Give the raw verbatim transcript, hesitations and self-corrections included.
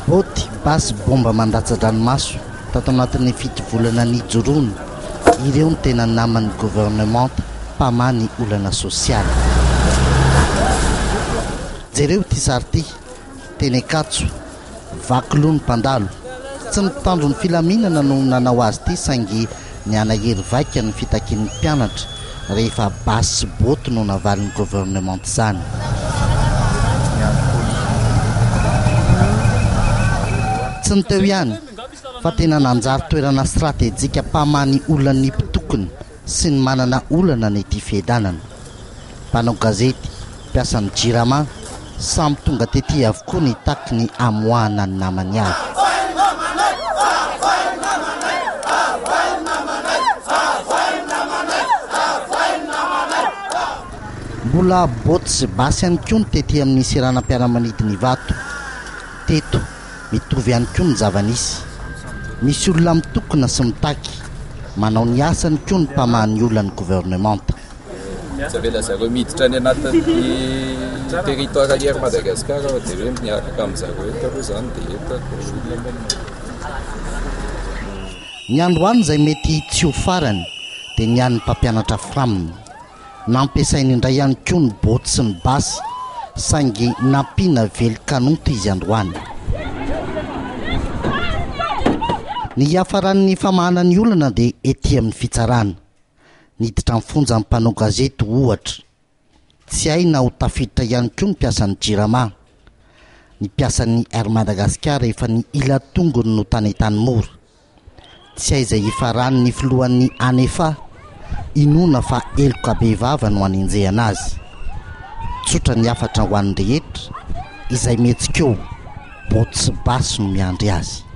Boty, basy, bomba mandatsa-dranomaso tato anatin'ny fito volana nijoroana, ireo ny tena naman'ny governemanta mpamaha ny olana sosialy. Jereo ity sary ity, teny Ankatso, vaky loha ny mpandalo. Tsy ny mpitandro ny filaminana no nanao azy ity, saingy nianahery vaika ny fitakian'ny mpianatra rehefa basy sy boty no navalin'ny governemanta izany. Tsy ny teo ihany fa tena nanjary toerana stratejika mpamaha ny olan'ny mpitokona sy ny manana olana ny ety Fiadanana. Mpanao gazety, mpiasan'ny Jirama, samy tonga tety avokoa nitaky ny amoahana ny namany avy. Mbola boty sy basy ihany koa ny tety amin'ny seranam-piaramanidina Ivato. Teto, mitovy ihany koa ny zava-nisy. Misy olona mitokona sy mitaky, manao ny asany koa ny mpamaha ny olan'ny governemanta. Tsy avela zareo miditra any anatin'ny territoire Air Madagascar fa dia hoe miaraka amin'zareo eto aloha izany dia eto. Ny androany izay mety tsy ho farany dia ny an'ny mpampianatra Fram. Nampiasainy indray ihany koa ny boty sy ny basy, saingy nampiana vely kanonto izy androany. Ny hiafaran'ny famahana ny olana dia ety amin'ny fitsarana. Niditra amin'ny fonja ny mpanao gazety ohatra. Tsy hay na ho tafiditra ihany koa ny mpiasan'ny Jirama. Ny mpiasan'ny Air Madagascar efa ny ila tongony no tany Antanimora. Tsy hay izay hifarany ny filohan'ny ANEFA, inoana fa heloka bevava no anenjehana azy. Tsotra ny hafatra ho an'ny rehetra, izay mihetsika eo, boty sy basy no miandry azy.